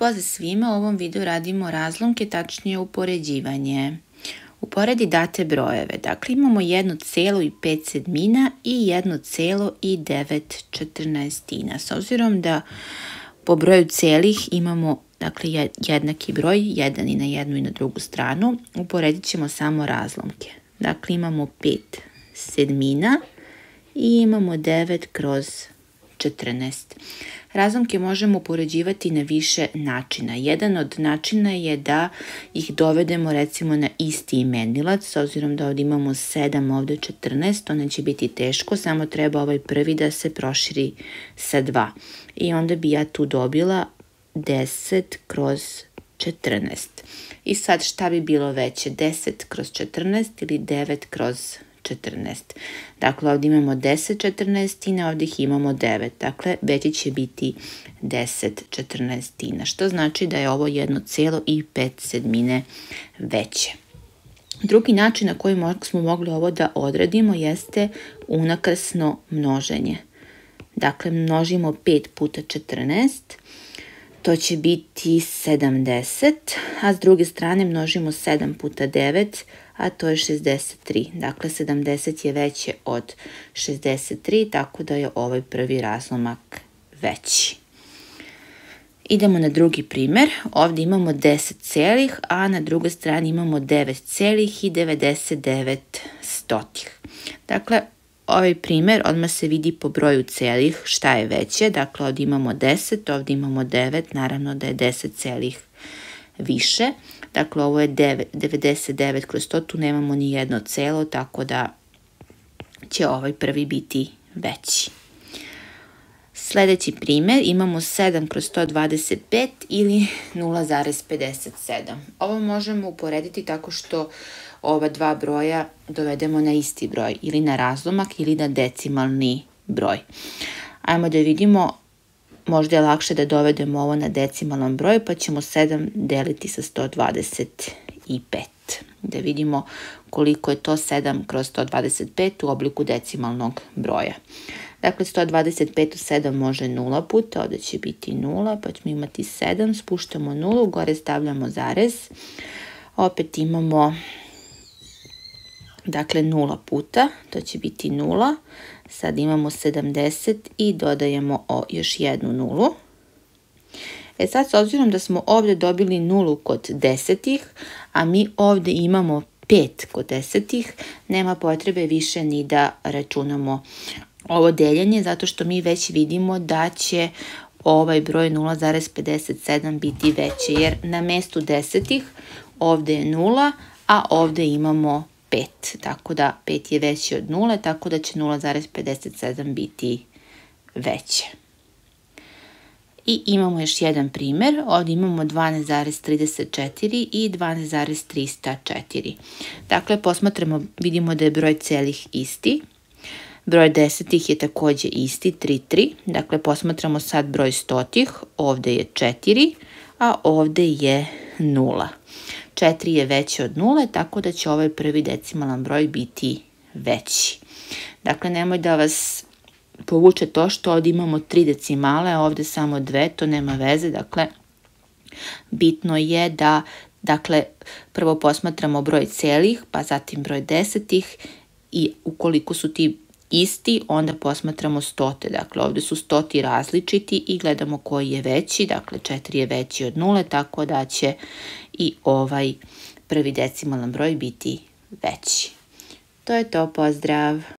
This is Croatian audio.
Pozdrav svima, u ovom videu radimo razlomke, tačnije upoređivanje. Uporedi date brojeve, dakle imamo 1,5 i 1,9. S obzirom da po broju celih imamo jednaki broj, jedan i na jednu i na drugu stranu, uporedit ćemo samo razlomke. Dakle imamo 5/7 i imamo 9/14. Razlomke možemo upoređivati na više načina. Jedan od načina je da ih dovedemo recimo na isti imenilac, s obzirom da ovdje imamo 7, ovdje 14, to neće biti teško, samo treba ovaj prvi da se proširi sa 2. I onda bi ja tu dobila 10/14. I sad šta bi bilo veće, 10/14 ili 9/14? Dakle, ovdje imamo 10/14, ovdje ih imamo 9. Dakle, veće će biti 10/14, što znači da je ovo 1,5 veće. Drugi način na koji smo mogli ovo da odradimo jeste unakrsno množenje. Dakle, množimo 5 puta 14, to će biti 70, a s druge strane množimo 7 puta 9, a to je 63. Dakle, 70 je veće od 63, tako da je ovaj prvi razlomak veći. Idemo na drugi primjer. Ovdje imamo 10 celih, a na drugoj strani imamo 9,99. Dakle, ovaj primjer odmah se vidi po broju celih šta je veće. Dakle, ovdje imamo 10, ovdje imamo 9, naravno da je 10 celih više. Dakle, ovo je 99/100, tu nemamo ni jedno celo, tako da će ovaj prvi biti veći. Sljedeći primjer, imamo 7/125 ili 0,57. Ovo možemo uporediti tako što ova dva broja dovedemo na isti broj, ili na razlomak ili na decimalni broj. Ajmo da vidimo, možda je lakše da dovedemo ovo na decimalnom broju, pa ćemo 7 deliti sa 125. Da vidimo koliko je to 7/125 u obliku decimalnog broja. Dakle, 125 u 7 može 0 puta, ovdje će biti 0, pa ćemo imati 7, spuštamo 0, gore stavljamo zarez. Opet imamo, dakle, 0 puta, to će biti 0. Sad imamo 70 i dodajemo još jednu 0. Sad, s obzirom da smo ovdje dobili 0 kod desetih, a mi ovdje imamo 5 kod desetih, nema potrebe više ni da računamo ovo deljenje, zato što mi već vidimo da će ovaj broj 0,57 biti veće, jer na mjestu desetih ovdje je 0, a ovdje imamo 5, tako da 5 je veći od 0, tako da će 0,57 biti veće. I imamo još jedan primjer, ovdje imamo 12,34 i 12,304. Dakle, posmatramo, vidimo da je broj celih isti, broj desetih je također isti, 3,3. Dakle, posmatramo sad broj stotih, ovdje je 4, a ovdje je 0. 4 je veće od 0, tako da će ovaj prvi decimalan broj biti veći. Dakle, nemoj da vas povuče to što ovdje imamo 3 decimale, a ovdje samo 2, to nema veze. Dakle, bitno je da, prvo posmatramo broj celih, pa zatim broj desetih i ukoliko su ti isti, onda posmatramo stote. Dakle, ovdje su stoti različiti i gledamo koji je veći. Dakle, 4 je veći od 0, tako da će i ovaj prvi decimalan broj biti veći. To je to, pozdrav!